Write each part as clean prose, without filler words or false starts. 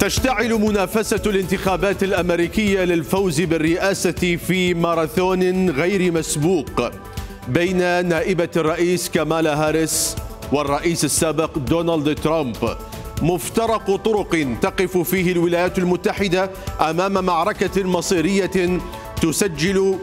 تشتعل منافسة الانتخابات الأمريكية للفوز بالرئاسة في ماراثون غير مسبوق بين نائبة الرئيس كامالا هاريس والرئيس السابق دونالد ترامب. مفترق طرق تقف فيه الولايات المتحدة أمام معركة مصيرية تسجل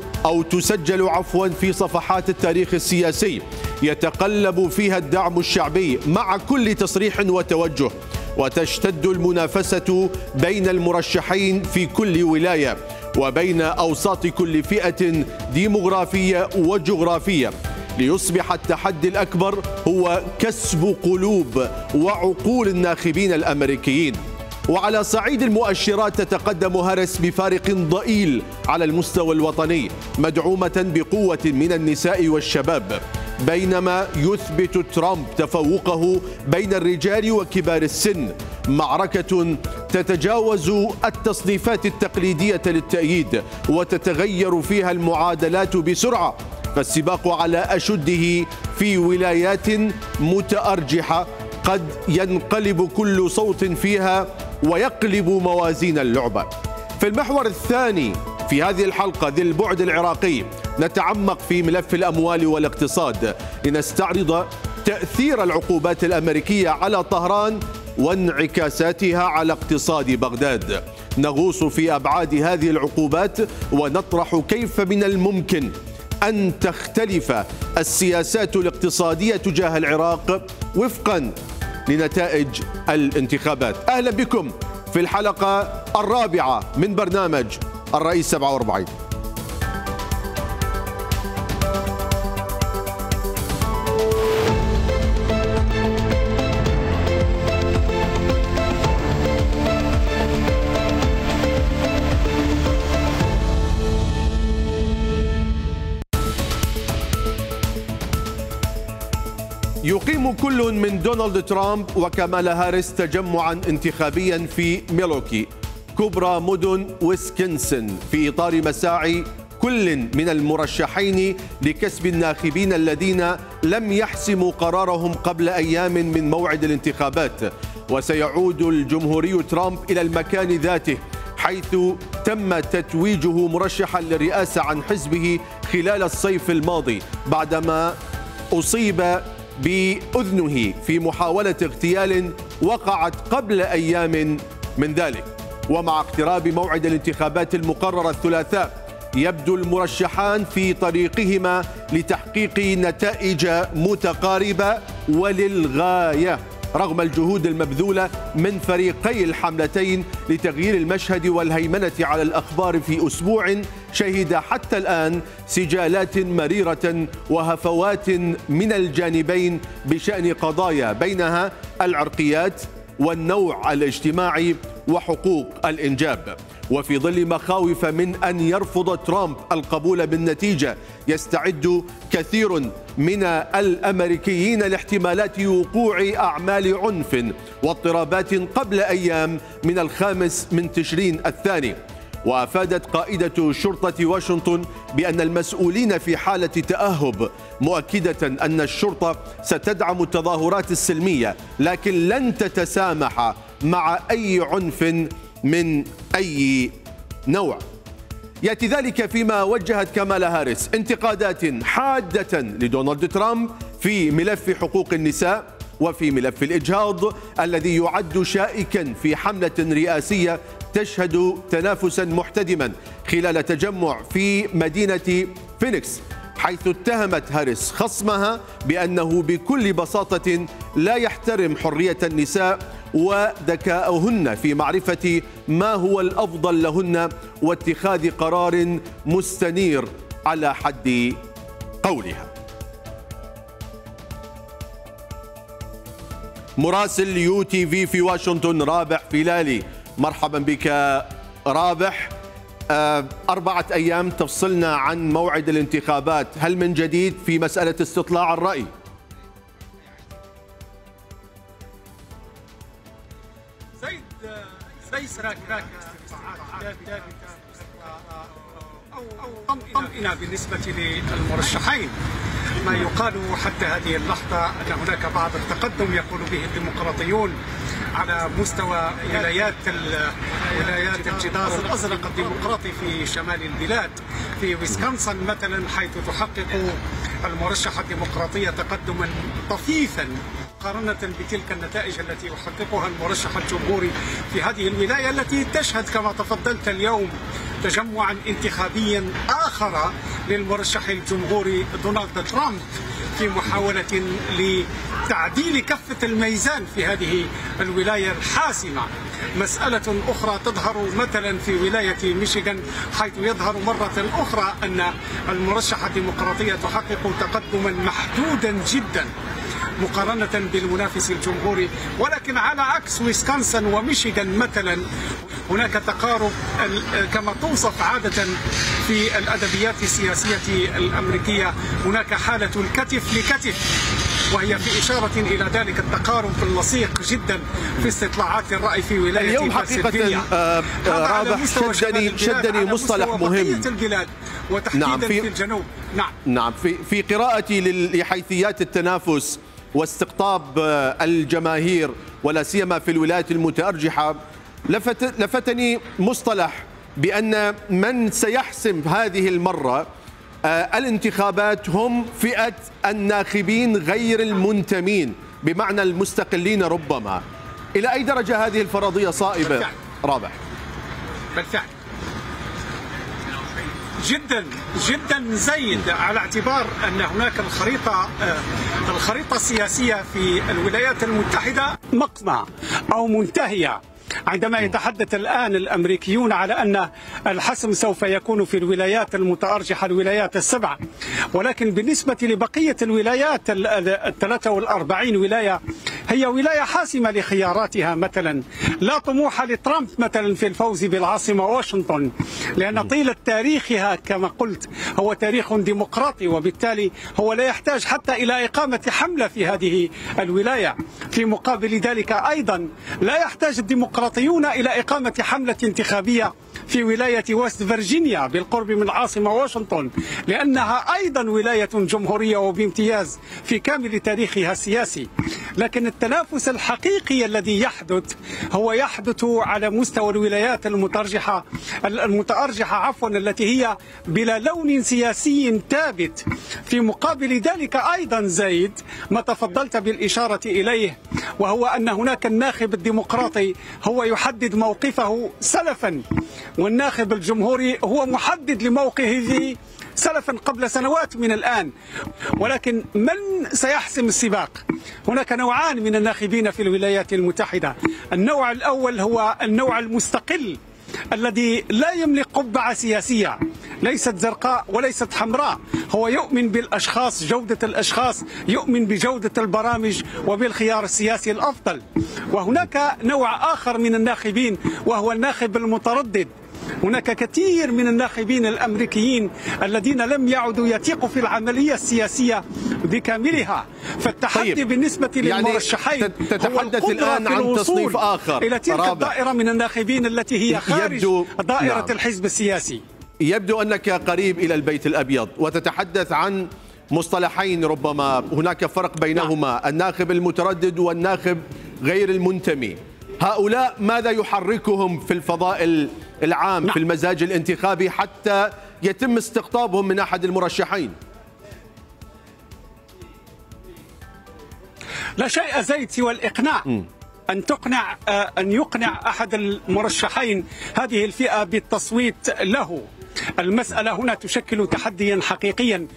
في صفحات التاريخ السياسي، يتقلب فيها الدعم الشعبي مع كل تصريح وتوجه، وتشتد المنافسة بين المرشحين في كل ولاية وبين أوساط كل فئة ديموغرافية وجغرافية، ليصبح التحدي الأكبر هو كسب قلوب وعقول الناخبين الأمريكيين. وعلى صعيد المؤشرات تتقدم هاريس بفارق ضئيل على المستوى الوطني، مدعومة بقوة من النساء والشباب، بينما يثبت ترامب تفوقه بين الرجال وكبار السن. معركة تتجاوز التصنيفات التقليدية للتأييد وتتغير فيها المعادلات بسرعة، فالسباق على أشده في ولايات متأرجحة قد ينقلب كل صوت فيها ويقلب موازين اللعبة. في المحور الثاني في هذه الحلقة ذي البعد العراقي نتعمق في ملف الأموال والاقتصاد لنستعرض تأثير العقوبات الأمريكية على طهران وانعكاساتها على اقتصاد بغداد. نغوص في أبعاد هذه العقوبات ونطرح كيف من الممكن أن تختلف السياسات الاقتصادية تجاه العراق وفقا لنتائج الانتخابات. أهلا بكم في الحلقة الرابعة من برنامج الرئيس 47. يقيم كل من دونالد ترامب وكامالا هاريس تجمعا انتخابيا في ميلوكي كبرى مدن ويسكنسن في إطار مساعي كل من المرشحين لكسب الناخبين الذين لم يحسموا قرارهم قبل أيام من موعد الانتخابات. وسيعود الجمهوري ترامب إلى المكان ذاته حيث تم تتويجه مرشحا للرئاسة عن حزبه خلال الصيف الماضي بعدما أصيب بأذنه في محاولة اغتيال وقعت قبل أيام من ذلك. ومع اقتراب موعد الانتخابات المقرر الثلاثاء يبدو المرشحان في طريقهما لتحقيق نتائج متقاربة وللغاية رغم الجهود المبذولة من فريقي الحملتين لتغيير المشهد والهيمنة على الأخبار في أسبوع شهد حتى الآن سجالات مريرة وهفوات من الجانبين بشأن قضايا بينها العرقيات والنوع الاجتماعي وحقوق الإنجاب. وفي ظل مخاوف من أن يرفض ترامب القبول بالنتيجة يستعد كثير من الأمريكيين لاحتمالات وقوع أعمال عنف واضطرابات قبل أيام من 5 تشرين الثاني. وأفادت قائدة شرطة واشنطن بأن المسؤولين في حالة تأهب، مؤكدة أن الشرطة ستدعم التظاهرات السلمية لكن لن تتسامح مع أي عنف من أي نوع. يأتي ذلك فيما وجهت كامالا هاريس انتقادات حادة لدونالد ترامب في ملف حقوق النساء وفي ملف الإجهاض الذي يعد شائكا في حملة رئاسية تشهد تنافسا محتدما خلال تجمع في مدينة فينيكس، حيث اتهمت هاريس خصمها بأنه بكل بساطة لا يحترم حرية النساء وذكاءهن في معرفة ما هو الأفضل لهن واتخاذ قرار مستنير على حد قولها. مراسل يو تي في واشنطن رابح فيلالي، مرحبا بك رابح. 4 أيام تفصلنا عن موعد الانتخابات، هل من جديد في مسألة استطلاع الرأي؟ ليس هناك طمأنينة بالنسبة للمرشحين. ما يقال حتى هذه اللحظة أن هناك بعض التقدم يقول به الديمقراطيون على مستوى ولايات الجدار الأزرق الديمقراطي في شمال البلاد. في ويسكونسن مثلا، حيث تحقق المرشحة الديمقراطية تقدما طفيفا مقارنة بتلك النتائج التي يحققها المرشح الجمهوري في هذه الولاية، التي تشهد كما تفضلت اليوم تجمعا انتخابيا آخر للمرشح الجمهوري دونالد ترامب في محاولة لتعديل كفة الميزان في هذه الولاية الحاسمة. مسألة أخرى تظهر مثلا في ولاية ميشيغان، حيث يظهر مرة أخرى أن المرشحة الديمقراطية تحقق تقدما محدودا جدا مقارنة بالمنافس الجمهوري، ولكن على عكس ويسكونسن وميشيغان مثلا هناك تقارب كما توصف عادة في الأدبيات السياسية الأمريكية، هناك حالة الكتف لكتف، وهي في إشارة إلى ذلك التقارب اللصيق جدا في استطلاعات الرأي في ولاية اليوم حقيقة رابح شدني مصطلح مهم البلاد وتحديدا في الجنوب. نعم في قراءتي لحيثيات التنافس واستقطاب الجماهير ولا سيما في الولايات المتأرجحة، لفتني مصطلح بأن من سيحسم هذه المرة الانتخابات هم فئة الناخبين غير المنتمين، بمعنى المستقلين ربما. إلى أي درجة هذه الفرضية صائبة بالفعل. رابح؟ بالفعل جدا جدا زيد، على اعتبار أن هناك الخريطة السياسية في الولايات المتحدة مقطع أو منتهية، عندما يتحدث الآن الأمريكيون على أن الحسم سوف يكون في الولايات المتأرجحة، الولايات السبع، ولكن بالنسبة لبقية الولايات 43 ولاية هي ولاية حاسمة لخياراتها. مثلا لا طموح لترامب مثلا في الفوز بالعاصمة واشنطن، لأن طيلة تاريخها كما قلت هو تاريخ ديمقراطي، وبالتالي هو لا يحتاج حتى إلى إقامة حملة في هذه الولاية. في مقابل ذلك أيضا لا يحتاج الديمقراطيون إلى إقامة حملة انتخابية في ولاية وست فيرجينيا بالقرب من العاصمة واشنطن، لأنها أيضا ولاية جمهورية وبامتياز في كامل تاريخها السياسي. لكن التنافس الحقيقي الذي يحدث هو يحدث على مستوى الولايات المتأرجحة التي هي بلا لون سياسي ثابت. في مقابل ذلك أيضا زيد ما تفضلت بالإشارة إليه، وهو أن هناك الناخب الديمقراطي هو يحدد موقفه سلفا، والناخب الجمهوري هو محدد لموقفه سلفا قبل سنوات من الآن. ولكن من سيحسم السباق؟ هناك نوعان من الناخبين في الولايات المتحدة. النوع الأول هو النوع المستقل الذي لا يملك قبعة سياسية، ليست زرقاء وليست حمراء، هو يؤمن بالأشخاص، جودة الأشخاص، يؤمن بجودة البرامج وبالخيار السياسي الأفضل. وهناك نوع آخر من الناخبين وهو الناخب المتردد. هناك كثير من الناخبين الأمريكيين الذين لم يعدوا يثيقوا في العملية السياسية بكاملها. فالتحدي بالنسبة للمرشحين تتحدث الآن عن تصنيف آخر إلى تلك الدائرة من الناخبين التي هي خارج دائرة الحزب السياسي. يبدو أنك قريب إلى البيت الأبيض وتتحدث عن مصطلحين ربما هناك فرق بينهما، الناخب المتردد والناخب غير المنتمي. هؤلاء ماذا يحركهم في الفضاء العام في المزاج الانتخابي حتى يتم استقطابهم من أحد المرشحين؟ لا شيء زيد سوى الإقناع. أن يقنع أحد المرشحين هذه الفئة بالتصويت له. المسألة هنا تشكل تحديا حقيقيا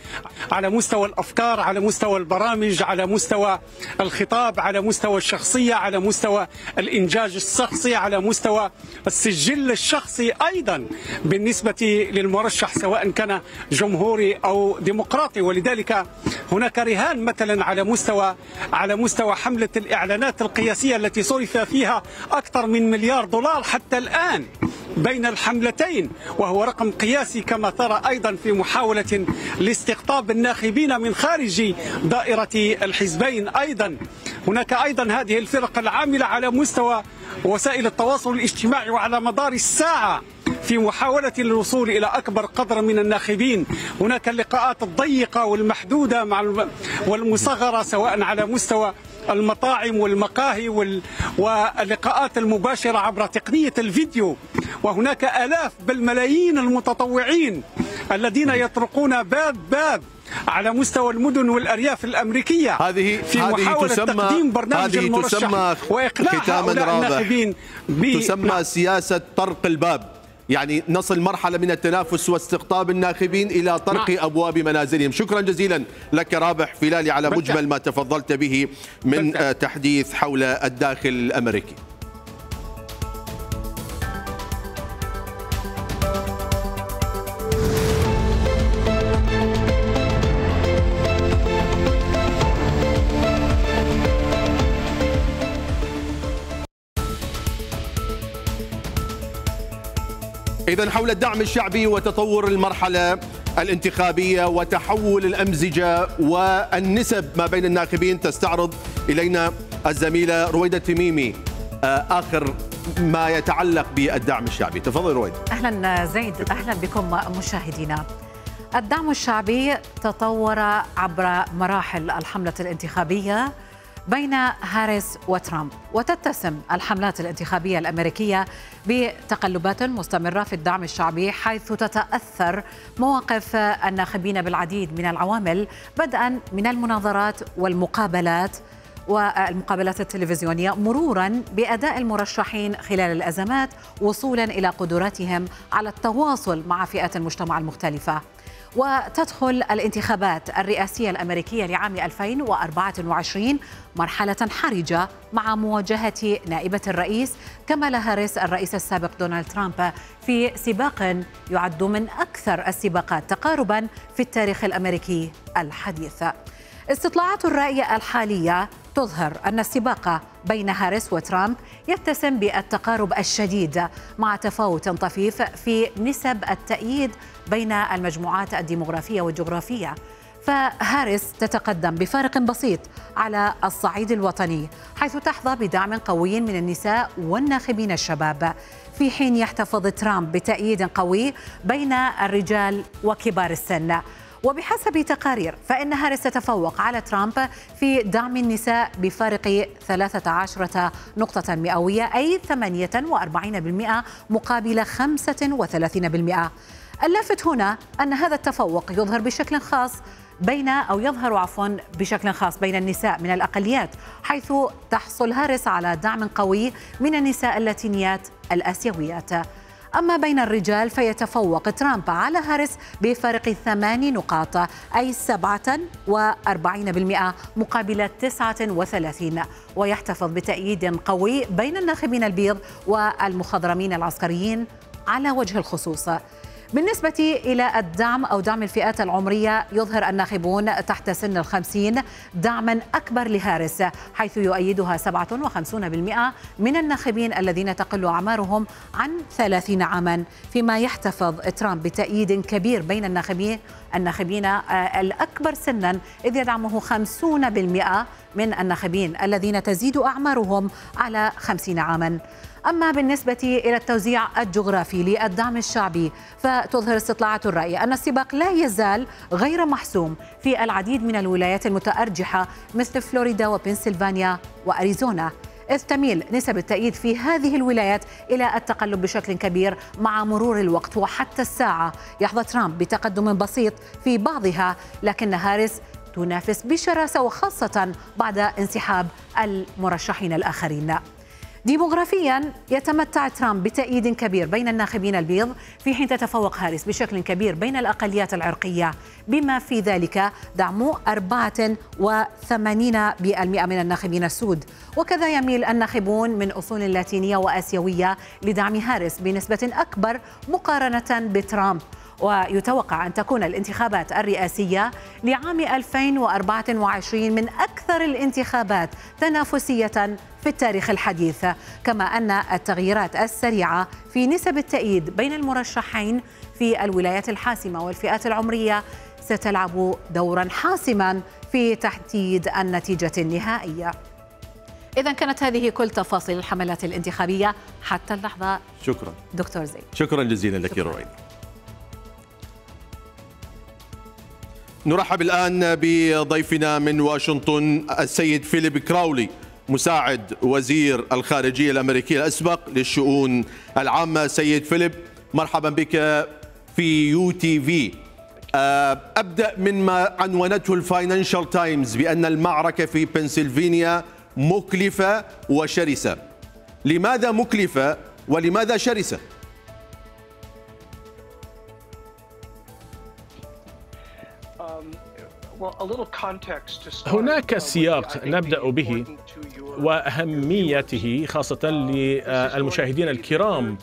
على مستوى الأفكار، على مستوى البرامج، على مستوى الخطاب، على مستوى الشخصية، على مستوى الإنجاز الشخصي، على مستوى السجل الشخصي أيضا بالنسبة للمرشح سواء كان جمهوري أو ديمقراطي. ولذلك هناك رهان مثلا على مستوى حملة الإعلانات القياسية التي صرف فيها أكثر من $1 مليار حتى الآن بين الحملتين، وهو رقم قياسي كما ترى أيضا في محاولة لاستقطاب الناخبين من خارج دائرة الحزبين. أيضا هناك أيضا هذه الفرق العاملة على مستوى وسائل التواصل الاجتماعي وعلى مدار الساعة في محاولة للوصول إلى أكبر قدر من الناخبين. هناك اللقاءات الضيقة والمحدودة والمصغرة سواء على مستوى المطاعم والمقاهي واللقاءات المباشرة عبر تقنية الفيديو، وهناك آلاف بل ملايين المتطوعين الذين يطرقون باب على مستوى المدن والأرياف الأمريكية في محاولة تقديم برنامج المرشح وإقناع هؤلاء الناخبين تسمى سياسة طرق الباب، يعني نصل مرحلة من التنافس واستقطاب الناخبين إلى طرق أبواب منازلهم. شكرا جزيلا لك رابح فيلالي على مجمل ما تفضلت به من تحديث حول الداخل الأمريكي. إذن حول الدعم الشعبي وتطور المرحلة الانتخابية وتحول الأمزجة والنسب ما بين الناخبين تستعرض إلينا الزميلة رويدة تميمي آخر ما يتعلق بالدعم الشعبي. تفضل رويدة. أهلا زيد، أهلا بكم مشاهدينا. الدعم الشعبي تطور عبر مراحل الحملة الانتخابية بين هاريس وترامب، وتتسم الحملات الانتخابية الأمريكية بتقلبات مستمرة في الدعم الشعبي، حيث تتأثر مواقف الناخبين بالعديد من العوامل، بدءا من المناظرات والمقابلات والمقابلات التلفزيونية، مرورا بأداء المرشحين خلال الأزمات، وصولا إلى قدراتهم على التواصل مع فئات المجتمع المختلفة. وتدخل الانتخابات الرئاسية الأمريكية لعام 2024 مرحلة حرجة مع مواجهة نائبة الرئيس كامالا هاريس الرئيس السابق دونالد ترامب في سباق يعد من أكثر السباقات تقاربا في التاريخ الأمريكي الحديث. استطلاعات الرأي الحالية تظهر أن السباق بين هاريس وترامب يتسم بالتقارب الشديد مع تفاوت طفيف في نسب التأييد بين المجموعات الديمغرافية والجغرافية. فهاريس تتقدم بفارق بسيط على الصعيد الوطني، حيث تحظى بدعم قوي من النساء والناخبين الشباب، في حين يحتفظ ترامب بتأييد قوي بين الرجال وكبار السن. وبحسب تقارير فإن هاريس تتفوق على ترامب في دعم النساء بفارق 13 نقطة مئوية، أي 48% مقابل 35%. اللافت هنا أن هذا التفوق يظهر بشكل خاص بين النساء من الأقليات، حيث تحصل هاريس على دعم قوي من النساء اللاتينيات الآسيويات. أما بين الرجال فيتفوق ترامب على هاريس بفارق 8 نقاط، أي 47% مقابل 39، ويحتفظ بتأييد قوي بين الناخبين البيض والمخضرمين العسكريين على وجه الخصوص. بالنسبة إلى الدعم أو دعم الفئات العمرية، يظهر الناخبون تحت سن 50 دعما أكبر لهاريس، حيث يؤيدها 57% من الناخبين الذين تقل أعمارهم عن 30 عاما، فيما يحتفظ ترامب بتأييد كبير بين الناخبين الأكبر سنا، إذ يدعمه 50% من الناخبين الذين تزيد أعمارهم على 50 عاما. أما بالنسبة إلى التوزيع الجغرافي للدعم الشعبي، فتظهر استطلاعات الرأي أن السباق لا يزال غير محسوم في العديد من الولايات المتأرجحة مثل فلوريدا وبنسلفانيا وأريزونا، إذ تميل نسب التأييد في هذه الولايات إلى التقلب بشكل كبير مع مرور الوقت. وحتى الساعة يحظى ترامب بتقدم بسيط في بعضها، لكن هاريس تنافس بشراسة، وخاصة بعد انسحاب المرشحين الآخرين. ديموغرافيا يتمتع ترامب بتأييد كبير بين الناخبين البيض، في حين تتفوق هاريس بشكل كبير بين الأقليات العرقية، بما في ذلك دعم 84% من الناخبين السود. وكذا يميل الناخبون من أصول لاتينية وآسيوية لدعم هاريس بنسبة أكبر مقارنة بترامب. ويتوقع أن تكون الانتخابات الرئاسية لعام 2024 من أكثر الانتخابات تنافسية في التاريخ الحديث، كما أن التغييرات السريعة في نسب التأييد بين المرشحين في الولايات الحاسمة والفئات العمرية ستلعب دورا حاسما في تحديد النتيجة النهائية. إذا كانت هذه كل تفاصيل الحملات الانتخابية حتى اللحظة. شكرا دكتور زيد. شكرا جزيلا لك رويدة. نرحب الآن بضيفنا من واشنطن السيد فيليب كراولي، مساعد وزير الخارجية الأمريكي الأسبق للشؤون العامة. سيد فيليب، مرحبا بك في UTV. أبدأ من ما عنونته الفاينانشال تايمز بأن المعركة في بنسلفانيا مكلفة وشرسة. لماذا مكلفة ولماذا شرسة؟ هناك سياق نبدأ به وأهميته خاصة للمشاهدين الكرام.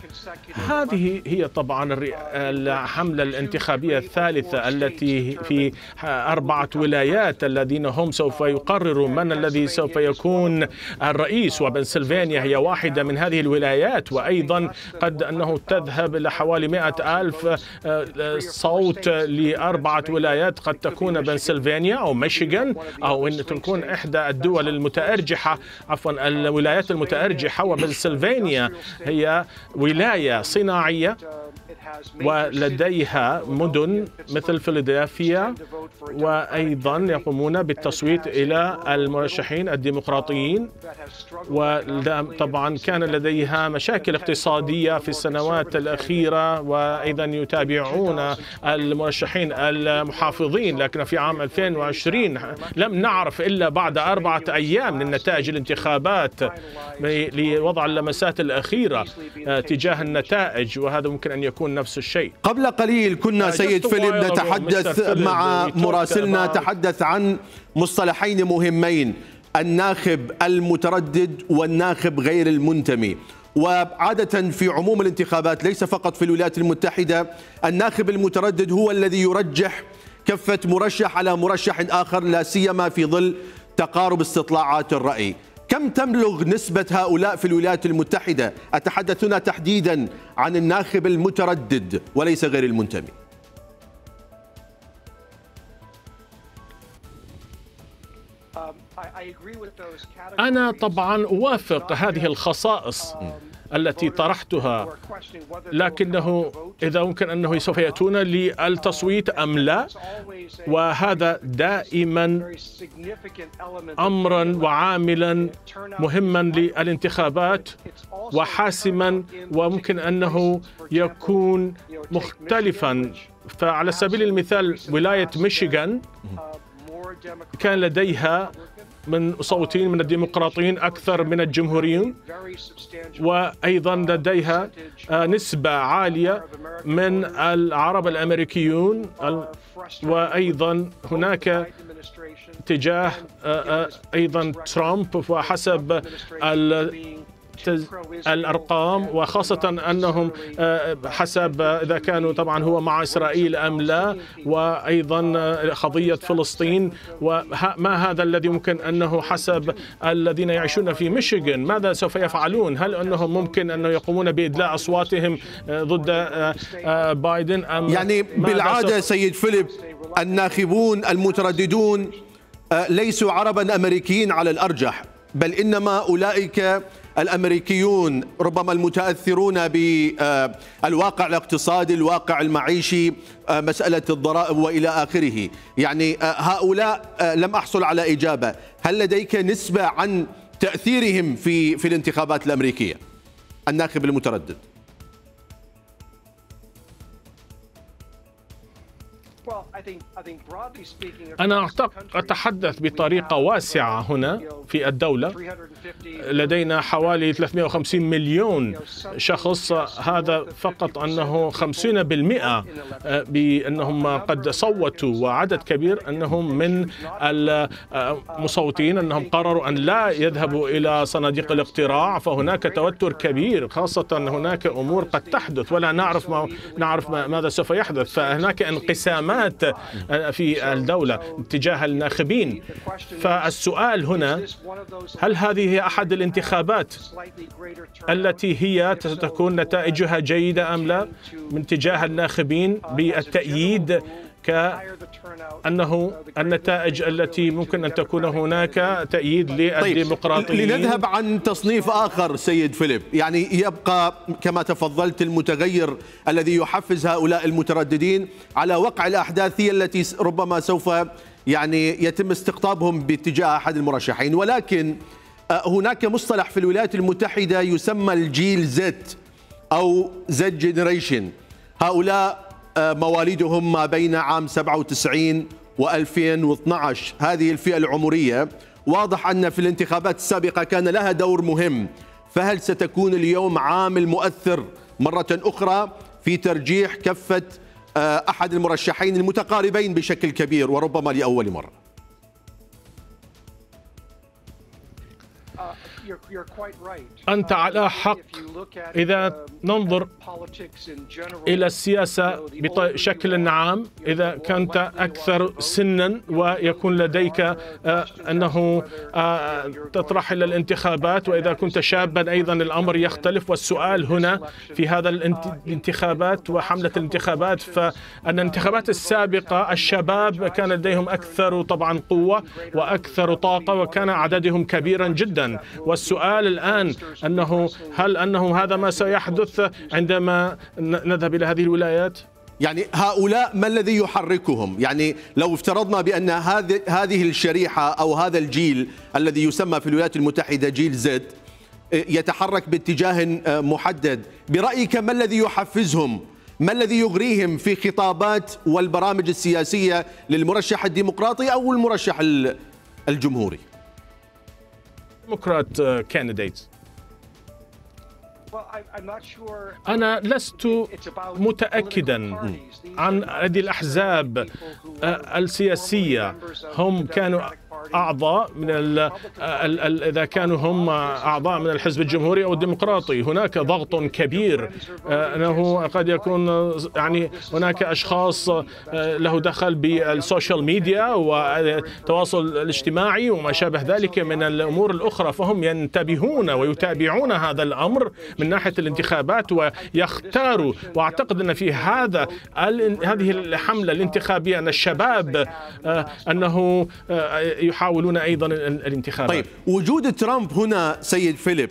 هذه هي طبعا الحملة الانتخابية الثالثة التي في 4 ولايات الذين هم سوف يقرروا من الذي سوف يكون الرئيس، وبنسلفانيا هي واحدة من هذه الولايات، وأيضا قد أنه تذهب إلى حوالي 100,000 صوت ل4 ولايات، قد تكون بنسلفانيا أو ميشيغان أو أن تكون إحدى الدول المتأرجحة، عفوا الولايات المتأرجحة. وبنسلفانيا هي ولاية صناعية ولديها مدن مثل فيلادلفيا، وأيضا يقومون بالتصويت إلى المرشحين الديمقراطيين. وطبعا كان لديها مشاكل اقتصادية في السنوات الأخيرة، وأيضا يتابعون المرشحين المحافظين. لكن في عام 2020 لم نعرف إلا بعد 4 أيام من نتائج الانتخابات لوضع اللمسات الأخيرة تجاه النتائج، وهذا ممكن أن يكون نفس الشيء. قبل قليل كنا سيد فيليب نتحدث مع مراسلنا، تحدث عن مصطلحين مهمين: الناخب المتردد والناخب غير المنتمي. وعادة في عموم الانتخابات ليس فقط في الولايات المتحدة، الناخب المتردد هو الذي يرجح كفة مرشح على مرشح آخر، لا سيما في ظل تقارب استطلاعات الرأي. كم تبلغ نسبة هؤلاء في الولايات المتحدة؟ أتحدث هنا تحديدا عن الناخب المتردد وليس غير المنتمي. أنا طبعا أوافق هذه الخصائص التي طرحتها، لكنه إذا ممكن أنه سوف يأتون للتصويت أم لا، وهذا دائما أمرا وعاملا مهما للانتخابات وحاسما، وممكن أنه يكون مختلفا. فعلى سبيل المثال ولاية ميشيغان كان لديها من مصوتين من الديمقراطيين أكثر من الجمهوريين، وأيضا لديها نسبة عالية من العرب الأمريكيون، وأيضا هناك اتجاه أيضا ترامب. وحسب الأرقام، وخاصة أنهم حسب إذا كانوا طبعا هو مع إسرائيل أم لا، وأيضا قضية فلسطين. وما هذا الذي ممكن أنه حسب الذين يعيشون في ميشيغان ماذا سوف يفعلون؟ هل أنهم ممكن أنه يقومون بإدلاء أصواتهم ضد بايدن أم يعني بالعادة سيد فيليب الناخبون المترددون ليسوا عربا أمريكيين على الأرجح، بل إنما أولئك الأمريكيون ربما المتأثرون بالواقع الاقتصادي، الواقع المعيشي، مسألة الضرائب وإلى آخره. يعني هؤلاء لم أحصل على إجابة. هل لديك نسبة عن تأثيرهم في الانتخابات الأمريكية، الناخب المتردد؟ أنا أتحدث بطريقة واسعة هنا في الدولة. لدينا حوالي 350 مليون شخص، هذا فقط أنه 50% بأنهم قد صوتوا، وعدد كبير أنهم من المصوتين أنهم قرروا أن لا يذهبوا إلى صناديق الاقتراع. فهناك توتر كبير، خاصة هناك أمور قد تحدث ولا نعرف ماذا سوف يحدث. فهناك انقسامات في الدولة تجاه الناخبين. فالسؤال هنا، هل هذه هي أحد الانتخابات التي هي ستكون نتائجها جيدة أم لا من تجاه الناخبين بالتأييد كأنه النتائج التي ممكن أن تكون هناك تأييد للديمقراطيين. لنذهب عن تصنيف آخر سيد فيليب، يعني يبقى كما تفضلت المتغير الذي يحفز هؤلاء المترددين على وقع الأحداث هي التي ربما سوف يعني يتم استقطابهم باتجاه أحد المرشحين. ولكن هناك مصطلح في الولايات المتحدة يسمى الجيل زد أو زد جينيريشن. هؤلاء مواليدهم ما بين عام 97 و2012. هذه الفئة العمرية واضح أن في الانتخابات السابقة كان لها دور مهم، فهل ستكون اليوم عامل مؤثر مرة أخرى في ترجيح كفة أحد المرشحين المتقاربين بشكل كبير وربما لأول مرة؟ أنت على حق. إذا ننظر إلى السياسة بشكل عام، إذا كنت أكثر سنا ويكون لديك أنه تطرح إلى الانتخابات، وإذا كنت شابا أيضا الأمر يختلف. والسؤال هنا في هذا الانتخابات وحملة الانتخابات، فأن الانتخابات السابقة الشباب كان لديهم أكثر طبعا قوة وأكثر طاقة وكان عددهم كبيرا جدا. والسؤال الآن هل أنه هذا ما سيحدث عندما نذهب إلى هذه الولايات؟ يعني هؤلاء ما الذي يحركهم؟ يعني لو افترضنا بأن هذه الشريحة أو هذا الجيل الذي يسمى في الولايات المتحدة جيل زد يتحرك باتجاه محدد، برأيك ما الذي يحفزهم؟ ما الذي يغريهم في خطابات والبرامج السياسية للمرشح الديمقراطي أو المرشح الجمهوري؟ ديمقراط كانديديتس. أنا لست متأكدا عن هذه الأحزاب السياسية. هم كانوا أعضاء من إذا كانوا هم أعضاء من الحزب الجمهوري أو الديمقراطي، هناك ضغط كبير أنه قد يكون يعني هناك أشخاص له دخل بالسوشيال ميديا والتواصل الاجتماعي وما شابه ذلك من الأمور الأخرى، فهم ينتبهون ويتابعون هذا الأمر من ناحية الانتخابات ويختاروا. وأعتقد أن في هذه الحملة الانتخابية أن الشباب أنه يحاولون أيضا الانتخابات. طيب، وجود ترامب هنا سيد فيليب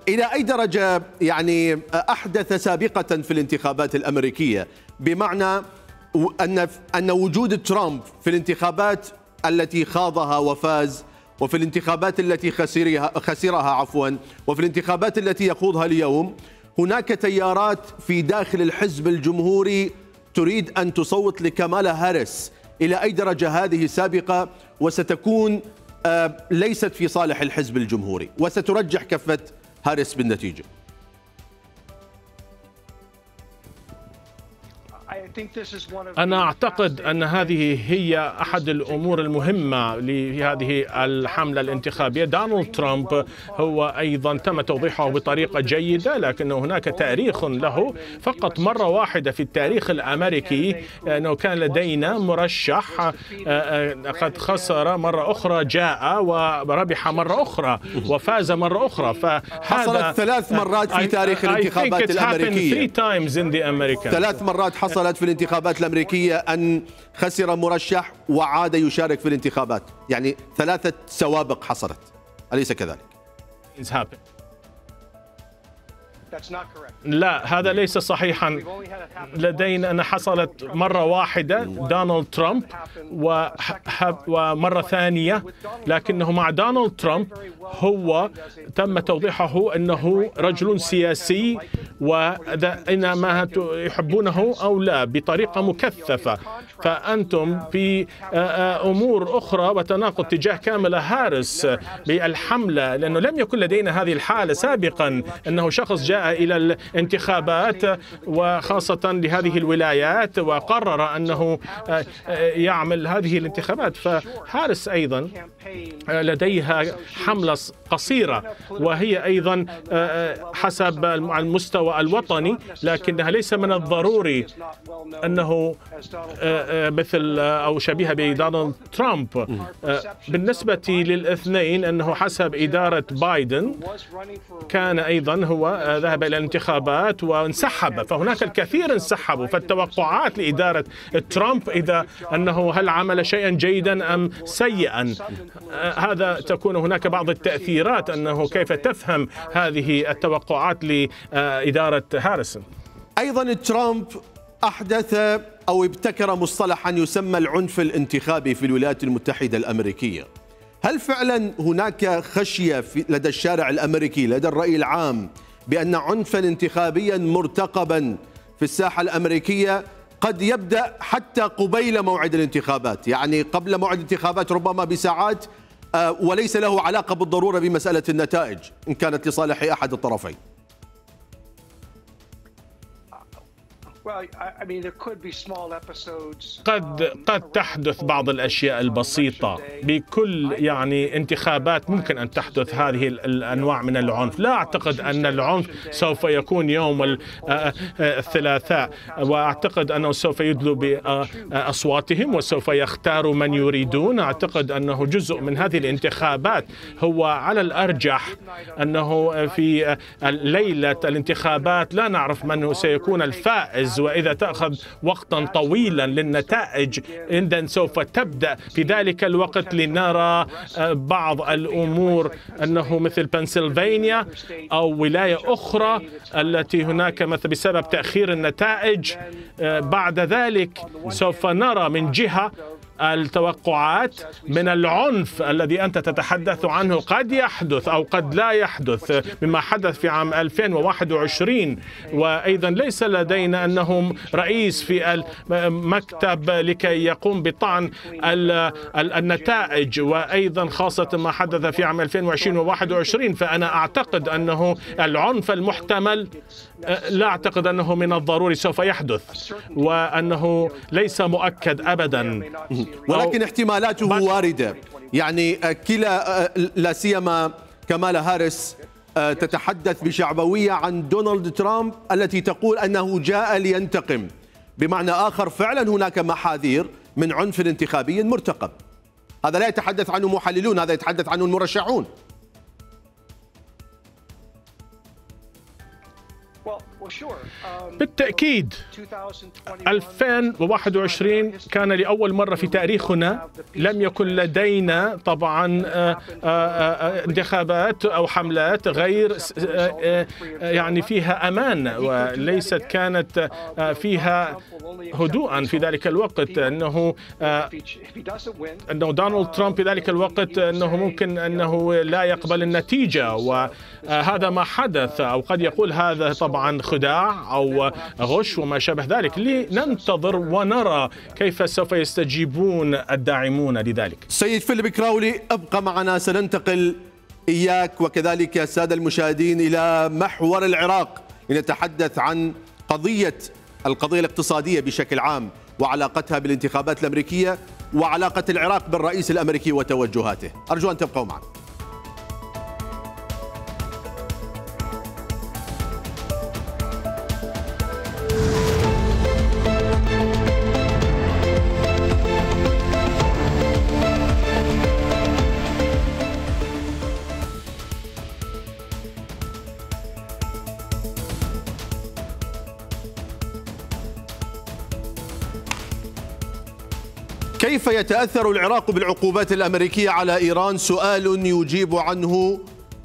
إلى أي درجة يعني أحدث سابقة في الانتخابات الأمريكية، بمعنى أن وجود ترامب في الانتخابات التي خاضها وفاز، وفي الانتخابات التي خسرها وفي الانتخابات التي يخوضها اليوم، هناك تيارات في داخل الحزب الجمهوري تريد أن تصوت لكامالا هاريس. إلى أي درجة هذه سابقة وستكون ليست في صالح الحزب الجمهوري وسترجح كفة هاريس بالنتيجة؟ أنا أعتقد أن هذه هي أحد الأمور المهمة لهذه الحملة الانتخابية. دونالد ترامب هو أيضا تم توضيحه بطريقة جيدة، لكن هناك تاريخ له. فقط مرة واحدة في التاريخ الأمريكي أنه كان لدينا مرشح قد خسر مرة أخرى، جاء وربح مرة أخرى وفاز مرة أخرى. حصلت 3 مرات في تاريخ الانتخابات الأمريكية. 3 مرات حصلت في الانتخابات الأمريكية أن خسر مرشح وعاد يشارك في الانتخابات، يعني 3 سوابق حصلت، أليس كذلك؟ لا، هذا ليس صحيحا. لدينا أن حصلت مرة واحدة دونالد ترامب ومرة ثانية، لكنه مع دونالد ترامب هو تم توضيحه أنه رجل سياسي، وإنما يحبونه أو لا بطريقة مكثفة. فأنتم في أمور أخرى وتناقض تجاه كامالا هاريس بالحملة، لأنه لم يكن لدينا هذه الحالة سابقا، أنه شخص جاء إلى الانتخابات وخاصة لهذه الولايات وقرر أنه يعمل هذه الانتخابات. فهاريس أيضا لديها حملة قصيرة، وهي أيضا حسب المستوى الوطني، لكنها ليس من الضروري أنه مثل أو شبيهة بدونالد ترامب. بالنسبة للاثنين أنه حسب إدارة بايدن كان أيضا هو ذهب إلى الانتخابات وانسحب، فهناك الكثير انسحبوا. فالتوقعات لإدارة ترامب إذا أنه هل عمل شيئا جيدا أم سيئا، هذا تكون هناك بعض التأثيرات أنه كيف تفهم هذه التوقعات لإدارة هاريسون. أيضا ترامب أحدث أو ابتكر مصطلحا يسمى العنف الانتخابي في الولايات المتحدة الأمريكية. هل فعلا هناك خشية لدى الشارع الأمريكي لدى الرأي العام بأن عنفا انتخابيا مرتقبا في الساحة الأمريكية قد يبدأ حتى قبيل موعد الانتخابات، يعني قبل موعد الانتخابات ربما بساعات، وليس له علاقة بالضرورة بمسألة النتائج إن كانت لصالح أحد الطرفين؟ قد تحدث بعض الأشياء البسيطة. بكل انتخابات ممكن أن تحدث هذه الأنواع من العنف. لا أعتقد أن العنف سوف يكون يوم الثلاثاء، وأعتقد أنه سوف يدلوا بأصواتهم وسوف يختاروا من يريدون. أعتقد أنه جزء من هذه الانتخابات هو على الأرجح أنه في ليلة الانتخابات لا نعرف من سيكون الفائز، وإذا تأخذ وقتا طويلا للنتائج إذن سوف تبدأ في ذلك الوقت لنرى بعض الأمور أنه مثل بنسلفانيا أو ولاية أخرى التي هناك مثل بسبب تأخير النتائج. بعد ذلك سوف نرى من جهة التوقعات من العنف الذي أنت تتحدث عنه قد يحدث أو قد لا يحدث، مما حدث في عام 2021. وأيضا ليس لدينا أنهم رئيس في المكتب لكي يقوم بطعن النتائج، وأيضا خاصة ما حدث في عام 2020 و21. فأنا أعتقد أنه العنف المحتمل لا أعتقد أنه من الضروري سوف يحدث، وأنه ليس مؤكد أبدا، ولكن احتمالاته واردة. يعني كلا لا سيما كامالا هاريس تتحدث بشعبوية عن دونالد ترامب التي تقول أنه جاء لينتقم. بمعنى آخر فعلا هناك محاذير من عنف انتخابي مرتقب. هذا لا يتحدث عنه محللون، هذا يتحدث عنه المرشحون. بالتأكيد 2021 كان لأول مرة في تاريخنا لم يكن لدينا طبعا انتخابات أو حملات غير فيها أمان، وليست كانت فيها هدوءا في ذلك الوقت. أنه دونالد ترامب في ذلك الوقت أنه ممكن أنه لا يقبل النتيجة، وهذا ما حدث. أو قد يقول هذا طبعا خداع أو غش وما شابه ذلك. لننتظر ونرى كيف سوف يستجيبون الداعمون لذلك. سيد فيليب كراولي، ابقى معنا، سننتقل إياك وكذلك السادة المشاهدين إلى محور العراق لنتحدث عن القضية الاقتصادية بشكل عام وعلاقتها بالانتخابات الأمريكية وعلاقة العراق بالرئيس الأمريكي وتوجهاته. أرجو أن تبقوا معنا. كيف يتأثر العراق بالعقوبات الأمريكية على إيران؟ سؤال يجيب عنه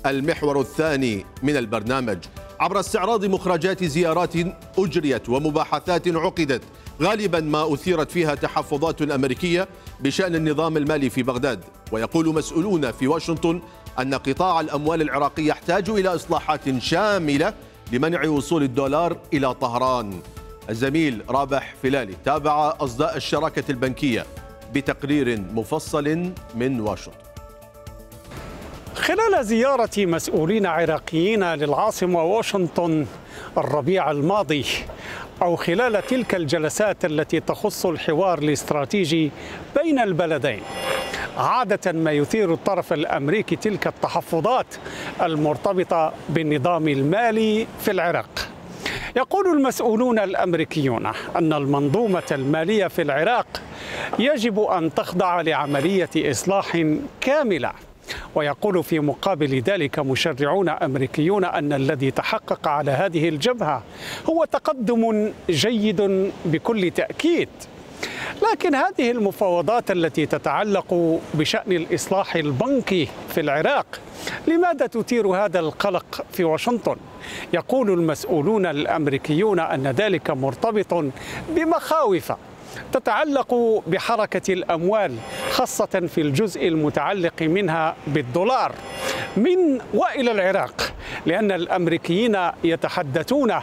المحور الثاني من البرنامج عبر استعراض مخرجات زيارات أجريت ومباحثات عقدت غالبا ما أثيرت فيها تحفظات أمريكية بشأن النظام المالي في بغداد. ويقول مسؤولون في واشنطن أن قطاع الأموال العراقي يحتاج إلى إصلاحات شاملة لمنع وصول الدولار إلى طهران. الزميل رابح فلالي تابع أصداء الشراكة البنكية بتقرير مفصل من واشنطن. خلال زيارة مسؤولين عراقيين للعاصمة واشنطن الربيع الماضي، أو خلال تلك الجلسات التي تخص الحوار الاستراتيجي بين البلدين، عادة ما يثير الطرف الأمريكي تلك التحفظات المرتبطة بالنظام المالي في العراق. يقول المسؤولون الأمريكيون أن المنظومة المالية في العراق يجب أن تخضع لعملية إصلاح كاملة. ويقول في مقابل ذلك مشرعون أمريكيون أن الذي تحقق على هذه الجبهة هو تقدم جيد بكل تأكيد. لكن هذه المفاوضات التي تتعلق بشأن الإصلاح البنكي في العراق لماذا تثير هذا القلق في واشنطن؟ يقول المسؤولون الأمريكيون أن ذلك مرتبط بمخاوف تتعلق بحركة الأموال، خاصة في الجزء المتعلق منها بالدولار من وإلى العراق، لأن الأمريكيين يتحدثون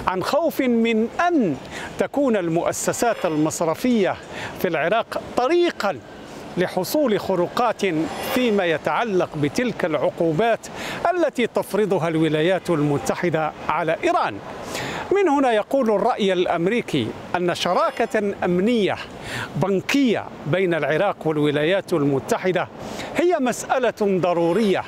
عن خوف من أن تكون المؤسسات المصرفية في العراق طريقا لحصول خروقات فيما يتعلق بتلك العقوبات التي تفرضها الولايات المتحدة على إيران. من هنا يقول الرأي الأمريكي أن شراكة أمنية بنكية بين العراق والولايات المتحدة هي مسألة ضرورية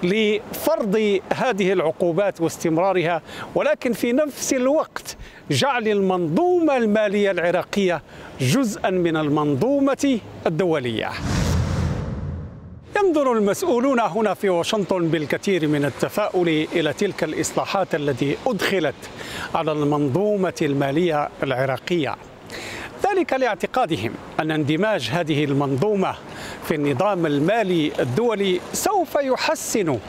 لفرض هذه العقوبات واستمرارها، ولكن في نفس الوقت جعل المنظومة المالية العراقية جزءا من المنظومة الدولية. ينظر المسؤولون هنا في واشنطن بالكثير من التفاؤل إلى تلك الإصلاحات التي أدخلت على المنظومة المالية العراقية، ذلك لاعتقادهم أن اندماج هذه المنظومة في النظام المالي الدولي سوف يحسن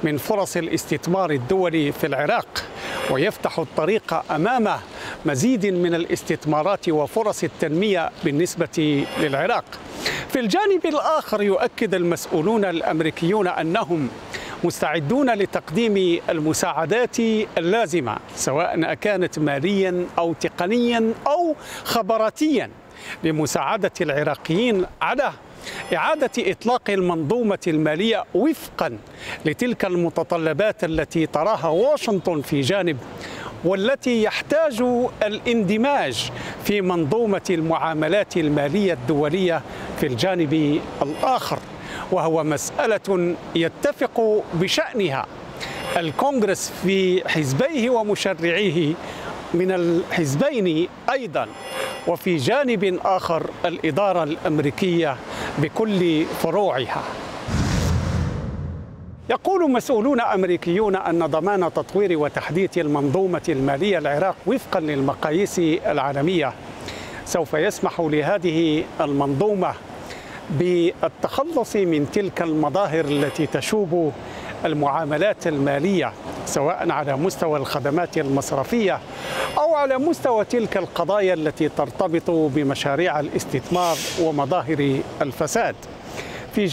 من فرص الاستثمار الدولي في العراق ويفتح الطريق أمام مزيد من الاستثمارات وفرص التنمية بالنسبة للعراق. في الجانب الآخر يؤكد المسؤولون الأمريكيون أنهم مستعدون لتقديم المساعدات اللازمة سواء كانت ماليا أو تقنيا أو خبراتيا لمساعدة العراقيين على إعادة إطلاق المنظومة المالية وفقا لتلك المتطلبات التي تراها واشنطن في جانب، والتي يحتاج الاندماج في منظومة المعاملات المالية الدولية في الجانب الآخر، وهو مسألة يتفق بشأنها الكونغرس في حزبيه ومشرعيه من الحزبين أيضا، وفي جانب آخر الإدارة الأمريكية بكل فروعها. يقول مسؤولون أمريكيون أن ضمان تطوير وتحديث المنظومة المالية العراق وفقا للمقاييس العالمية سوف يسمح لهذه المنظومة بالتخلص من تلك المظاهر التي تشوب المعاملات المالية سواء على مستوى الخدمات المصرفية أو على مستوى تلك القضايا التي ترتبط بمشاريع الاستثمار ومظاهر الفساد. في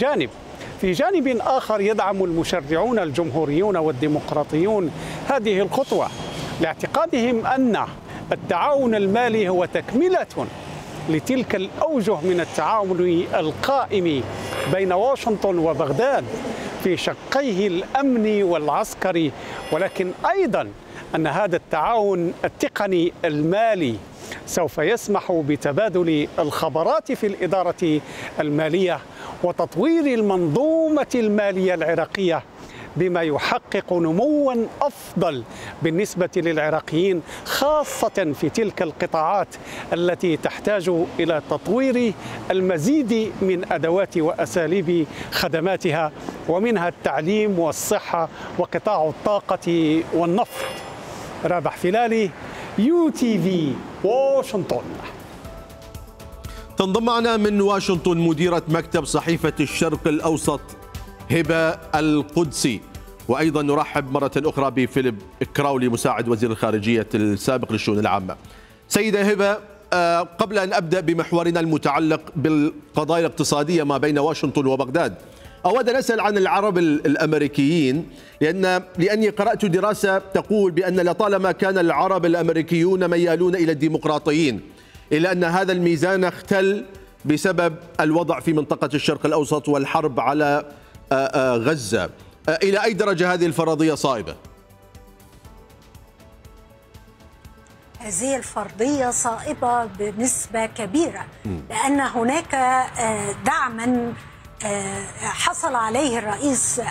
جانب آخر يدعم المشرعون الجمهوريون والديمقراطيون هذه الخطوة لاعتقادهم أن التعاون المالي هو تكملة لتلك الأوجه من التعاون القائم بين واشنطن وبغداد في شقيه الأمني والعسكري، ولكن أيضا أن هذا التعاون التقني المالي سوف يسمح بتبادل الخبرات في الإدارة المالية وتطوير المنظومة المالية العراقية بما يحقق نموا أفضل بالنسبة للعراقيين، خاصة في تلك القطاعات التي تحتاج إلى تطوير المزيد من أدوات وأساليب خدماتها، ومنها التعليم والصحة وقطاع الطاقة والنفط. رابح فلالي، UTV، واشنطن. تنضم معنا من واشنطن مديرة مكتب صحيفة الشرق الأوسط هبة القدسي، وأيضا نرحب مرة أخرى بفيليب كراولي مساعد وزير الخارجية السابق للشؤون العامة. سيدة هبة، قبل أن أبدأ بمحورنا المتعلق بالقضايا الاقتصادية ما بين واشنطن وبغداد، أود أن أسأل عن العرب الأمريكيين، لأني قرأت دراسة تقول بأن لطالما كان العرب الأمريكيون ميالون إلى الديمقراطيين، إلا أن هذا الميزان اختل بسبب الوضع في منطقة الشرق الأوسط والحرب على غزة. إلى أي درجة هذه الفرضية صائبة؟ هذه الفرضية صائبة بنسبة كبيرة، لأن هناك دعما حصل عليه الرئيس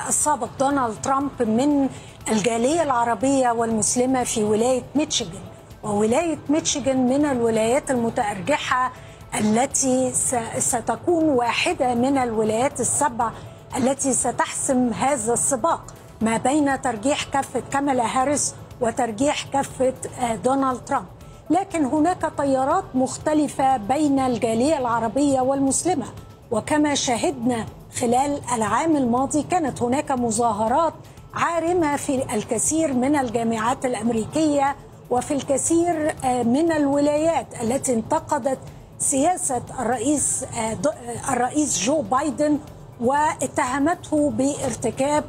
السابق دونالد ترامب من الجالية العربية والمسلمة في ولاية ميشيغان. وولاية ميشيغان من الولايات المتأرجحة التي ستكون واحدة من الولايات السبع التي ستحسم هذا السباق ما بين ترجيح كفة كامالا هاريس وترجيح كفة دونالد ترامب. لكن هناك تيارات مختلفة بين الجالية العربية والمسلمة، وكما شاهدنا خلال العام الماضي كانت هناك مظاهرات عارمة في الكثير من الجامعات الأمريكية وفي الكثير من الولايات التي انتقدت سياسة الرئيس جو بايدن واتهمته بارتكاب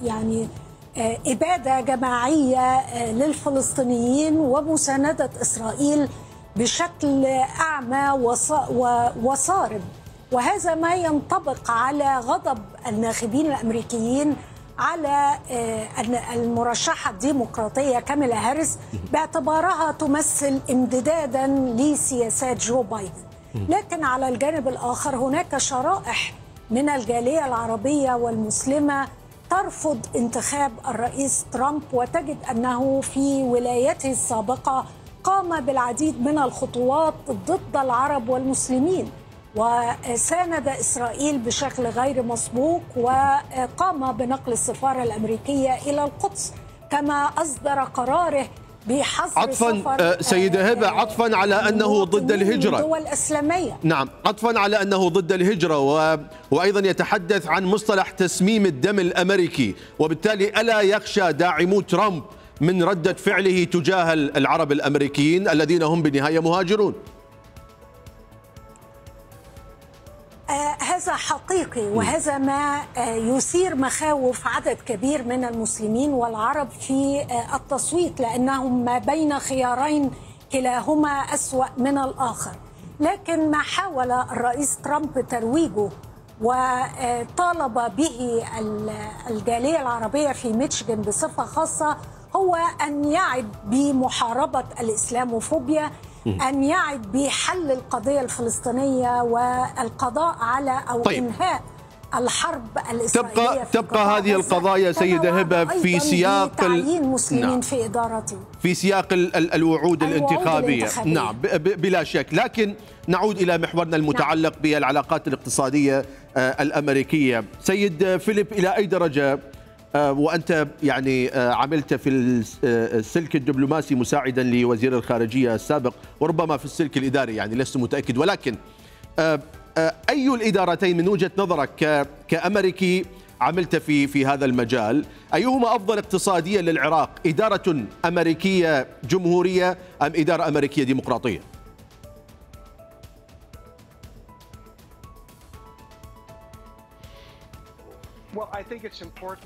يعني إبادة جماعية للفلسطينيين ومساندة إسرائيل بشكل أعمى وصارم. وهذا ما ينطبق على غضب الناخبين الأمريكيين على المرشحة الديمقراطية كامالا هاريس باعتبارها تمثل امتدادا لسياسات جو بايدن. لكن على الجانب الآخر هناك شرائح من الجالية العربية والمسلمة ترفض انتخاب الرئيس ترامب، وتجد أنه في ولايته السابقة قام بالعديد من الخطوات ضد العرب والمسلمين، وساند إسرائيل بشكل غير مسبوق، وقام بنقل السفارة الأمريكية إلى القدس، كما أصدر قراره بحظر عطفا سيدة هبة، عطفا على أنه ضد الهجرة الدول الإسلامية. نعم، عطفا على أنه ضد الهجرة وأيضا يتحدث عن مصطلح تسميم الدم الأمريكي، وبالتالي ألا يخشى داعمو ترامب من ردة فعله تجاه العرب الأمريكيين الذين هم بالنهاية مهاجرون؟ هذا حقيقي، وهذا ما يثير مخاوف عدد كبير من المسلمين والعرب في التصويت، لأنهم ما بين خيارين كلاهما أسوأ من الآخر. لكن ما حاول الرئيس ترامب ترويجه وطالب به الجالية العربية في ميشيغان بصفة خاصة هو أن يعد بمحاربة الإسلاموفوبيا، أن يعد بحل القضية الفلسطينية والقضاء على أو إنهاء الحرب الإسرائيلية. تبقى هذه القضايا سيدة هبة في سياق تعيين مسلمين في إدارته، في سياق الوعود الانتخابية. نعم بلا شك. لكن نعود إلى محورنا المتعلق بالعلاقات الاقتصادية الأمريكية. سيد فيليب، إلى أي درجة وأنت يعني عملت في السلك الدبلوماسي مساعدا لوزير الخارجية السابق، وربما في السلك الإداري، يعني لست متأكد، ولكن أي الإدارتين من وجهة نظرك كأمريكي عملت في هذا المجال، أيهما أفضل اقتصاديا للعراق؟ إدارة أمريكية جمهورية أم إدارة أمريكية ديمقراطية؟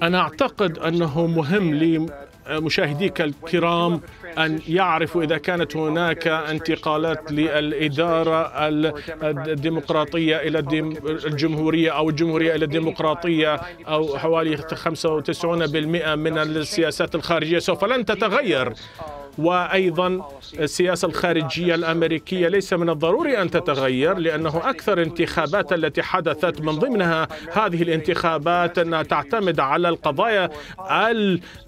أنا أعتقد أنه مهم لمشاهديك الكرام أن يعرفوا إذا كانت هناك انتقالات للإدارة الديمقراطية إلى الجمهورية أو الجمهورية إلى الديمقراطية، أو حوالي 95% من السياسات الخارجية سوف لن تتغير. وأيضا السياسة الخارجية الأمريكية ليس من الضروري أن تتغير، لأنه أكثر انتخابات التي حدثت من ضمنها هذه الانتخابات أنها تعتمد على القضايا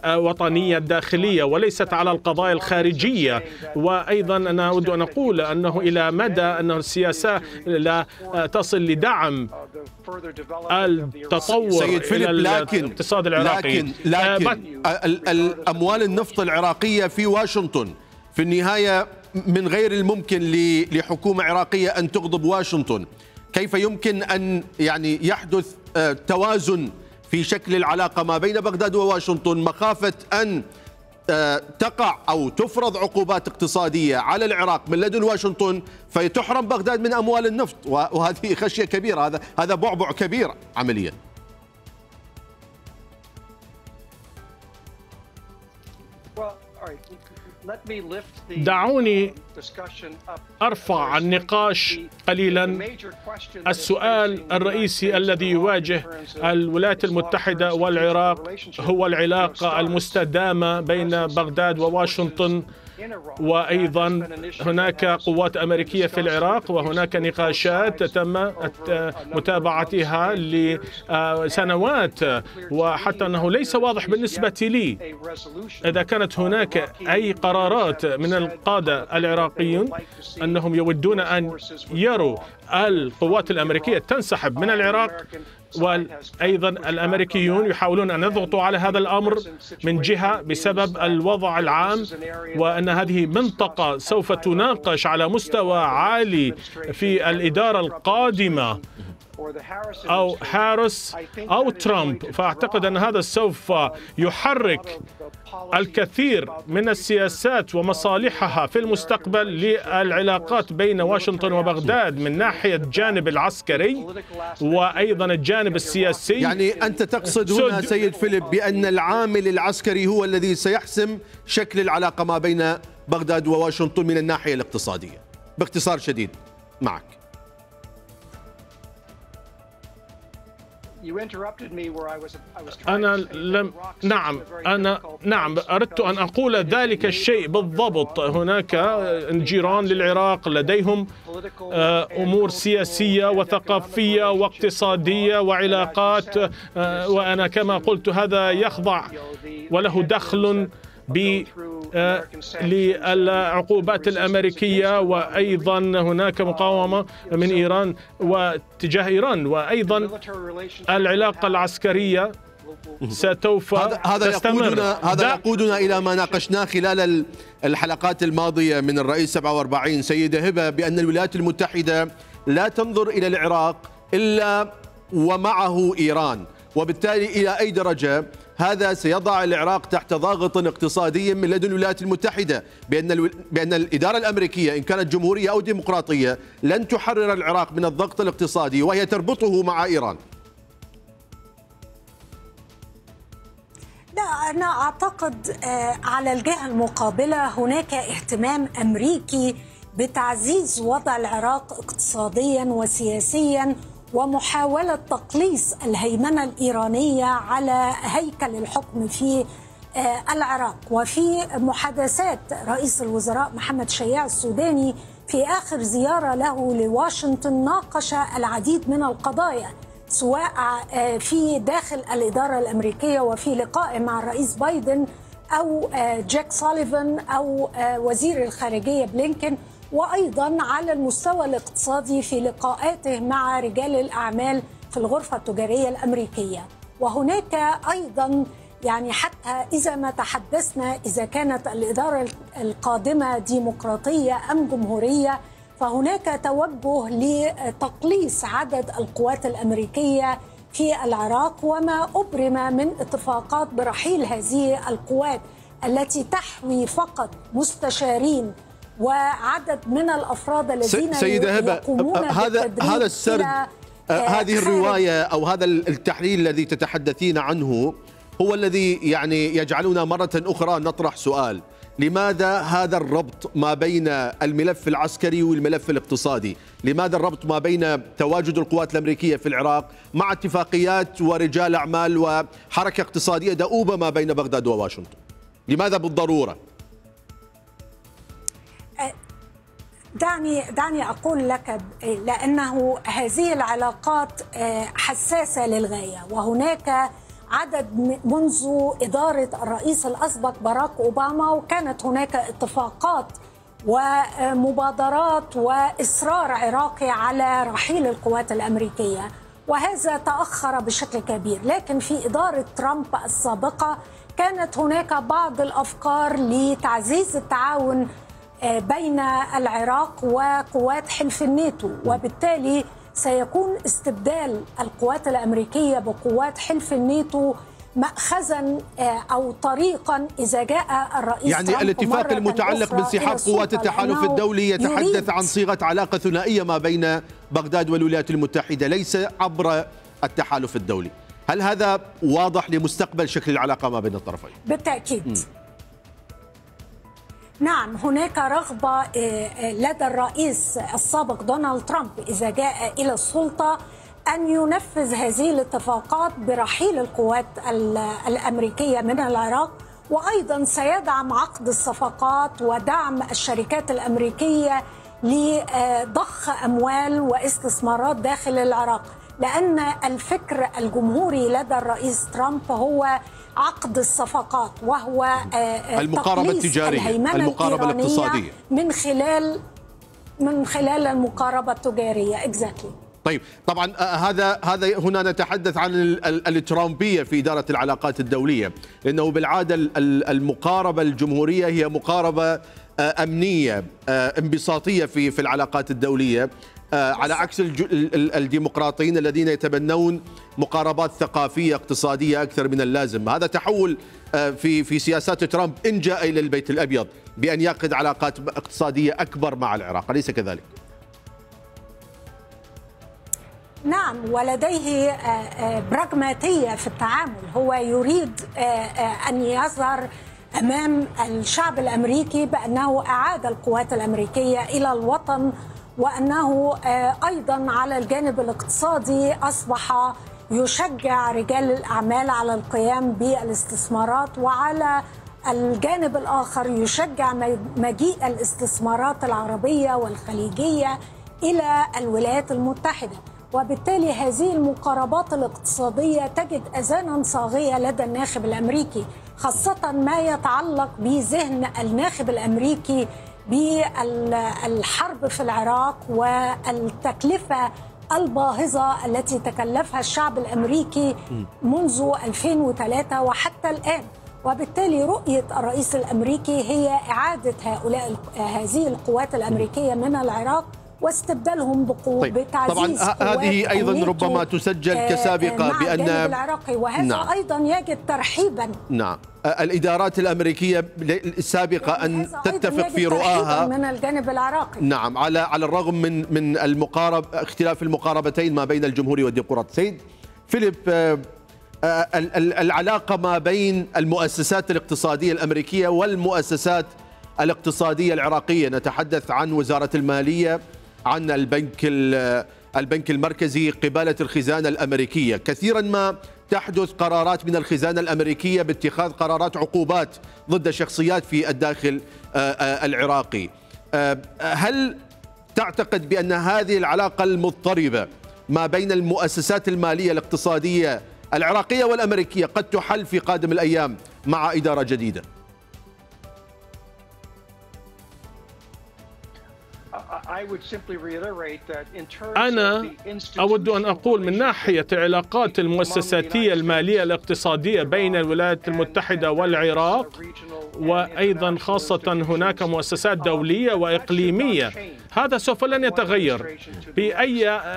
الوطنية الداخلية وليست على القضايا الخارجية. وأيضا أنا أود أن أقول أنه إلى مدى أن السياسة لا تصل لدعم التطور إلى الاقتصاد العراقي، لكن الأموال النفط العراقية في واشنطن في النهاية من غير الممكن لحكومة عراقية أن تغضب واشنطن. كيف يمكن أن يعني يحدث توازن في شكل العلاقة ما بين بغداد وواشنطن مخافة أن تقع أو تفرض عقوبات اقتصادية على العراق من لدن واشنطن فيتحرم بغداد من أموال النفط؟ وهذه خشية كبيرة، هذا بعبع كبير عمليا. دعوني أرفع النقاش قليلا. السؤال الرئيسي الذي يواجه الولايات المتحدة والعراق هو العلاقة المستدامة بين بغداد وواشنطن وأيضا هناك قوات أمريكية في العراق، وهناك نقاشات تم متابعتها لسنوات، وحتى أنه ليس واضح بالنسبة لي إذا كانت هناك أي قرارات من القادة العراقيون أنهم يودون أن يروا القوات الأمريكية تنسحب من العراق، وأيضا الأمريكيون يحاولون أن يضغطوا على هذا الأمر من جهة بسبب الوضع العام، وأن هذه منطقة سوف تناقش على مستوى عالي في الإدارة القادمة أو هاريس أو ترامب. فأعتقد أن هذا سوف يحرك الكثير من السياسات ومصالحها في المستقبل للعلاقات بين واشنطن وبغداد من ناحية الجانب العسكري وأيضا الجانب السياسي. يعني أنت تقصد هنا سيد فيليب بأن العامل العسكري هو الذي سيحسم شكل العلاقة ما بين بغداد وواشنطن من الناحية الاقتصادية؟ باختصار شديد معك. أنا أردت أن أقول ذلك الشيء بالضبط. هناك جيران للعراق لديهم أمور سياسية وثقافية واقتصادية وعلاقات، وأنا كما قلت هذا يخضع وله دخل للعقوبات الأمريكية، وأيضا هناك مقاومة من إيران واتجاه إيران، وأيضا العلاقة العسكرية ستوفى تستمر. هذا يقودنا إلى ما ناقشناه خلال الحلقات الماضية من الرئيس 47 سيدة هبة، بأن الولايات المتحدة لا تنظر إلى العراق إلا ومعه إيران، وبالتالي إلى أي درجة هذا سيضع العراق تحت ضاغط اقتصادي من لدن الولايات المتحدة، بأن الإدارة الأمريكية إن كانت جمهورية أو ديمقراطية لن تحرر العراق من الضغط الاقتصادي وهي تربطه مع إيران. لا، أنا أعتقد على الجهة المقابلة هناك اهتمام أمريكي بتعزيز وضع العراق اقتصاديا وسياسيا، ومحاولة تقليص الهيمنة الإيرانية على هيكل الحكم في العراق. وفي محادثات رئيس الوزراء محمد شياع السوداني في آخر زيارة له لواشنطن ناقش العديد من القضايا، سواء في داخل الإدارة الأمريكية وفي لقاء مع الرئيس بايدن أو جاك سوليفان أو وزير الخارجية بلينكن، وأيضا على المستوى الاقتصادي في لقاءاته مع رجال الأعمال في الغرفة التجارية الأمريكية. وهناك أيضا يعني حتى إذا ما تحدثنا إذا كانت الإدارة القادمة ديمقراطية أم جمهورية، فهناك توجه لتقليص عدد القوات الأمريكية في العراق، وما أبرم من اتفاقات برحيل هذه القوات التي تحوي فقط مستشارين وعدد من الأفراد الذين يقومون هذا السرد، هذه الرواية أو هذا التحليل الذي تتحدثين عنه هو الذي يعني يجعلنا مرة أخرى نطرح سؤال: لماذا هذا الربط ما بين الملف العسكري والملف الاقتصادي؟ لماذا الربط ما بين تواجد القوات الأمريكية في العراق مع اتفاقيات ورجال أعمال وحركة اقتصادية دؤوبة ما بين بغداد وواشنطن؟ لماذا بالضرورة؟ دعني أقول لك، لأنه هذه العلاقات حساسة للغاية، وهناك عدد منذ إدارة الرئيس الأسبق باراك أوباما وكانت هناك اتفاقات ومبادرات وإصرار عراقي على رحيل القوات الأمريكية، وهذا تأخر بشكل كبير. لكن في إدارة ترامب السابقة كانت هناك بعض الأفكار لتعزيز التعاون بين العراق وقوات حلف الناتو، وبالتالي سيكون استبدال القوات الأمريكية بقوات حلف الناتو مأخذا أو طريقا إذا جاء الرئيس يعني ترامب الاتفاق المتعلق بانسحاب قوات التحالف الدولي يتحدث عن صيغة علاقة ثنائية ما بين بغداد والولايات المتحدة ليس عبر التحالف الدولي. هل هذا واضح لمستقبل شكل العلاقة ما بين الطرفين؟ بالتأكيد. نعم، هناك رغبة لدى الرئيس السابق دونالد ترامب إذا جاء إلى السلطة أن ينفذ هذه الاتفاقات برحيل القوات الأمريكية من العراق، وأيضا سيدعم عقد الصفقات ودعم الشركات الأمريكية لضخ أموال واستثمارات داخل العراق، لأن الفكر الجمهوري لدى الرئيس ترامب هو عقد الصفقات، وهو المقاربة التجارية، المقاربة الاقتصادية من خلال المقاربة التجارية. طيب طبعا هذا هنا نتحدث عن الترامبية في إدارة العلاقات الدولية، لأنه بالعادة المقاربة الجمهورية هي مقاربة أمنية انبساطية في العلاقات الدولية، على عكس الديمقراطيين الذين يتبنون مقاربات ثقافية اقتصادية أكثر من اللازم. هذا تحول في سياسات ترامب إن جاء إلى البيت الأبيض بأن يعقد علاقات اقتصادية أكبر مع العراق، أليس كذلك؟ نعم، ولديه براغماتية في التعامل. هو يريد أن يظهر أمام الشعب الأمريكي بأنه أعاد القوات الأمريكية إلى الوطن، وأنه أيضا على الجانب الاقتصادي أصبح يشجع رجال الأعمال على القيام بالاستثمارات، وعلى الجانب الآخر يشجع مجيء الاستثمارات العربية والخليجية إلى الولايات المتحدة. وبالتالي هذه المقاربات الاقتصادية تجد أذانا صاغية لدى الناخب الأمريكي، خاصة ما يتعلق بذهن الناخب الأمريكي بالحرب في العراق والتكلفة الباهظة التي تكلفها الشعب الأمريكي منذ 2003 وحتى الآن. وبالتالي رؤية الرئيس الأمريكي هي إعادة هذه القوات الأمريكية من العراق واستبدالهم بتعزيز طبعا هذه أيضا ربما تسجل كسابقة بأن العراقي، وهذا نعم. أيضا يجد ترحيبا. نعم، الإدارات الأمريكية السابقة أن تتفق في رؤاها من الجانب العراقي. نعم، على الرغم من اختلاف المقاربتين ما بين الجمهوري والديمقراط. سيد فيليب، العلاقة ما بين المؤسسات الاقتصادية الأمريكية والمؤسسات الاقتصادية العراقية، نتحدث عن وزارة المالية، عن البنك المركزي، قبالة الخزانة الأمريكية. كثيرا ما تحدث قرارات من الخزانة الأمريكية باتخاذ قرارات عقوبات ضد شخصيات في الداخل العراقي. هل تعتقد بأن هذه العلاقة المضطربة ما بين المؤسسات المالية الاقتصادية العراقية والأمريكية قد تحل في قادم الأيام مع إدارة جديدة؟ أنا أود أن أقول من ناحية العلاقات المؤسساتية المالية الاقتصادية بين الولايات المتحدة والعراق، وأيضا خاصة هناك مؤسسات دولية وإقليمية، هذا سوف لن يتغير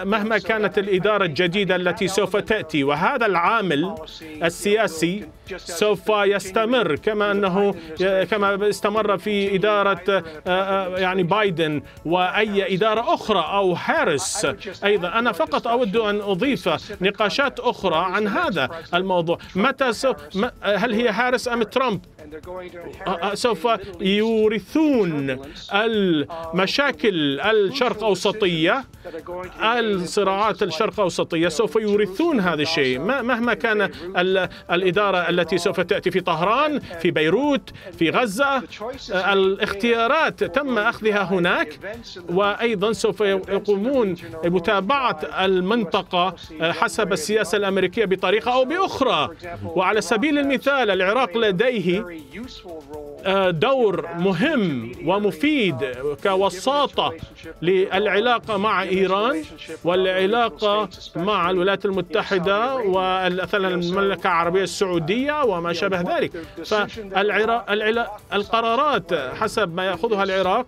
مهما كانت الإدارة الجديدة التي سوف تأتي، وهذا العامل السياسي سوف يستمر كما استمر في إدارة بايدن وأي إدارة أخرى أو هاريس. أيضا أنا فقط أود أن أضيف نقاشات أخرى عن هذا الموضوع. هل هي هاريس أم ترامب سوف يورثون المشاكل الشرق أوسطية، الصراعات الشرق أوسطية، سوف يورثون هذا الشيء مهما كان الإدارة التي سوف تأتي في طهران، في بيروت، في غزة. الاختيارات تم أخذها هناك، وأيضا سوف يقومون بمتابعة المنطقة حسب السياسة الأمريكية بطريقة أو بأخرى. وعلى سبيل المثال العراق لديه دور مهم ومفيد كوساطة للعلاقة مع إيران والعلاقة مع الولايات المتحدة ومثلا المملكة العربية السعودية وما شابه ذلك. فالقرارات حسب ما يأخذها العراق،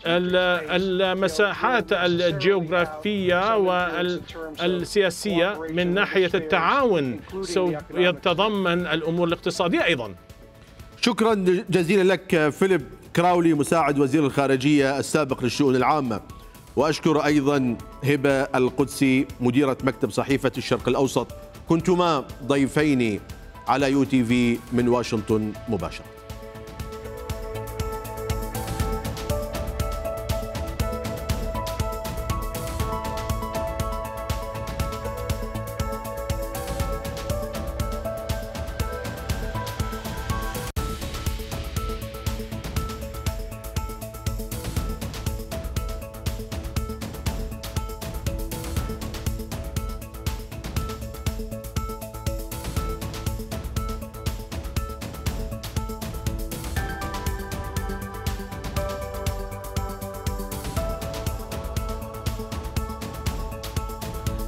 المساحات الجغرافية والسياسية من ناحية التعاون سوف يتضمن الأمور الاقتصادية أيضا. شكرا جزيلا لك فيليب كراولي، مساعد وزير الخارجية السابق للشؤون العامة. وأشكر أيضا هبة القدسي مديرة مكتب صحيفة الشرق الأوسط. كنتما ضيفين على UTV من واشنطن مباشرة.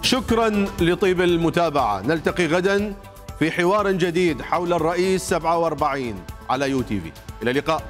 شكرا لطيب المتابعة. نلتقي غدا في حوار جديد حول الرئيس 47 على يو تي في. إلى اللقاء.